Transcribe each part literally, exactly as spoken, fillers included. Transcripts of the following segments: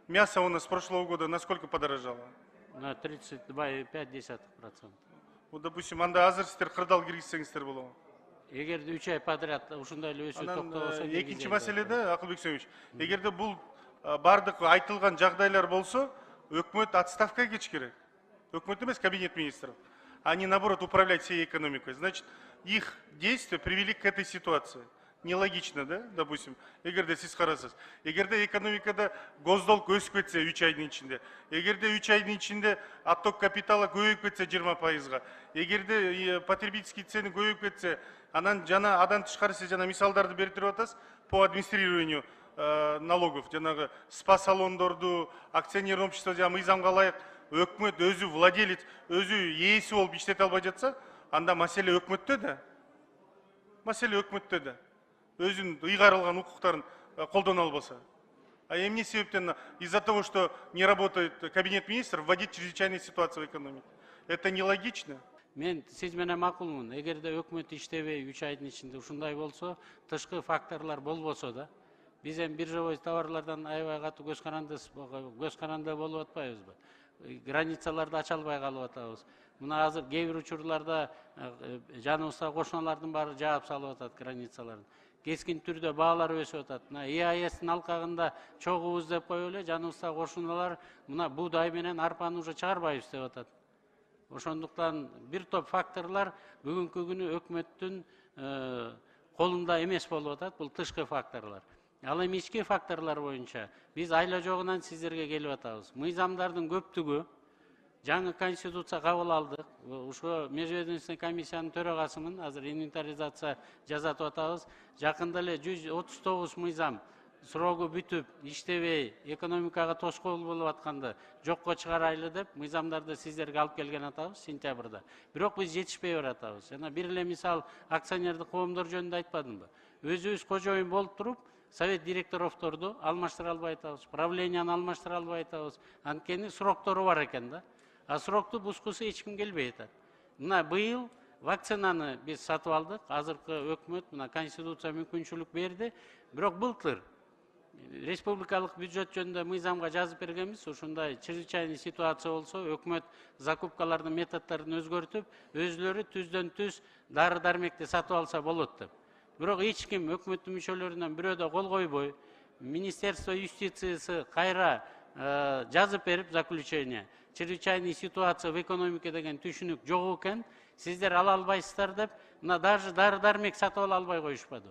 Мясо у нас с прошлого года насколько подорожало? На тридцать два и пять десятых процента. Вот, допустим, анда азыр сиздер кырдаал киргизсеңиздер болобу. Эгерде үч ай подряд ушундай эле өсүү Анан токтобосо, экинчи маселеде Акылбек Сөмич, эгерде бул бардык айтылган жагдайлар болсо, өкмөт отставкага кетиш керек. Өкмөт эмес, кабинет министров. Они, наоборот, управлять всей экономикой. Значит, их действия привели к этой ситуации. Нелогично, да, допустим, эгерде сиз карасыз. Эгерде экономикада госдолг өсүп кетсе үч айдын ичинде, эгерде үч айдын ичинде отток капитала көбөйүп кетсе жыйырма пайызга, эгерде потребительский цены көбөйүп кетсе, анан жана адан тышкары сиз жана мисалдарды берип туруп атасыз по администрированию налогов, жанагы спа салондорду, акционерный общество жана мыйзамга ылайык өкмөт өзү владелец, өзү ээси болуп иштете албай жатса, анда маселе өкмөттө да. Маселе өкмөттө да. Өзүнүн ыйгарылган укуктарын колдоно албаса. А эмне себептен из-за того, что не работает кабинет министров, вводить чрезвычайную ситуацию в экономике? Это нелогично. Мен сиз менен макулмун. Эгерде өкмөт иштебей үч айдын ичинде ушундай болсо, тышкы факторлор болбосо да, биз эми биржевой товарлардан аябай катуу көз каранды көз каранды болуп атпайбызбы? Границаларды ача албай калып атабыз. Мына азыр кээ бир учурларда жаныбызда кошуналардын баары жаап салып атат границаларын. Кескин түрдө баалар өсүп атат. Мына Е А Эстин алкагында чогубуз деп коюп эле жаныбызда кошуналар мына буудай менен арпаны уже чыгарбайбыз деп атат. Ошондуктан бир топ факторлор бүгүнкү күнү өкмөттүн колунда эмес болуп атат, бул тышкы факторлор. Ал эми ички факторлор боюнча биз айла жогунан сиздерге келип атабыз. Мыйзамдардын көптүгү жаңы конституция кабыл алдык. Ушо межведомственный комиссиянын төрагасымын, азыр инвентаризация жасатып атабыз. Жакында эле жүз отуз тогуз мыйзам срогу бүтүп, иштебей, экономикага тоскоол болуп атканды жокко чыгарайлы деп мыйзамдарды сиздерге алып келген атабыз сентябрда. Бирок биз жетишпей баратабыз. Жана бир эле мисал акционердик коомдор жөнүндө айтпадымбы? Өзүбүз кожоюн болуп туруп, совет директоровторду алмаштыра албай атабыз, правленияны алмаштыра албай атабыз. Анткени сроктору бар экен да. А срокту бускусу эч ким келбей атат. Мына быйыл вакцинаны биз сатып алдык. Азыркы өкмөт мына конституция мүмкүнчүлүк берди. Бирок былтыр республикалык бюджет жөнүндө мыйзамга жазып бергенбиз. Ушундай чрезвычайный ситуация болсо, өкмөт закупкалардын методдорун өзгөртүп, өзүлөрү түздөн түз дары дармекти сатып алса болот деп. Бирок эч ким өкмөттүн мүчөлөрүнөн бирөө да кол койбой, Министерство юстициясы кайра жазып берип заключение. Чрезвычайная ситуация в экономике деген түшүнүк жок экен, сиздер ала албайсыздар деп, мына даже дары дармек сатып ала албай коюшпады.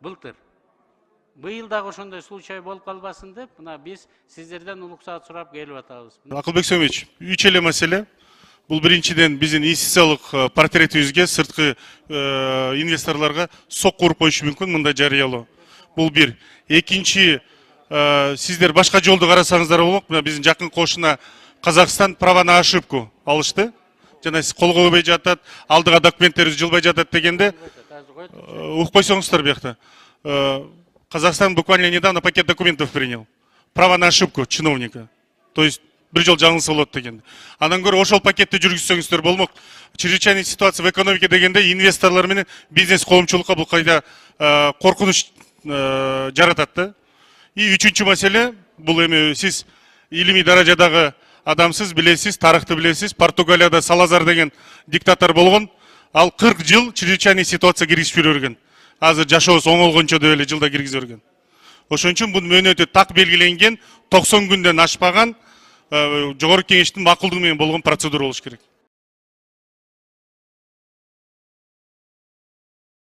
Былтыр. Быйыл дагы ошондой случай болуп калбасын деп, мына биз сиздерден улуксаат сурап келип атабыз. Акылбек Сөмич, үч эле маселе. Бул биринчиден биздин инвестициялык портретибизге, сырткы инвесторлорго сокку уруп коюшу мүмкүн мындай жарыялоо. Бул бир. Экинчи, сиздер башка жолду карасаңыздар болмок. Мына биздин жакын кошуна Казакстан право на ошибку алышты. Жана сиз кол койбой жатат, алдыга документтерибиз жылбай жатат дегенде угуп койсоңуздар биякта. Казахстан буквально недавно пакет документов принял. Право на ошибку чиновника. То есть бир жол жаңылса болот дегенде. Андан көрө ошол пакетти жүргүзсөңүздөр болмок. Чрезвычайная ситуация в экономике дегенде инвесторлор менен бизнес коомчулукка бул кайда коркунуч жаратат да. И үчүнчү маселе, бул эми сиз илимий даражадагы адамсыз билесиз, тарыхты билесиз. Португалияда Салазар деген диктатор болгон. Ал кырк жыл чрезвычайный ситуация киргизип жүргөн. Азыр жашообуз оңолгончо деп эле жылда киргизип жүргөн. Ошон үчүн бунун мөөнөтү так белгиленген, токсон күндөн ашпаган жогорку кеңештин макулдугу менен болгон процедура болуш керек.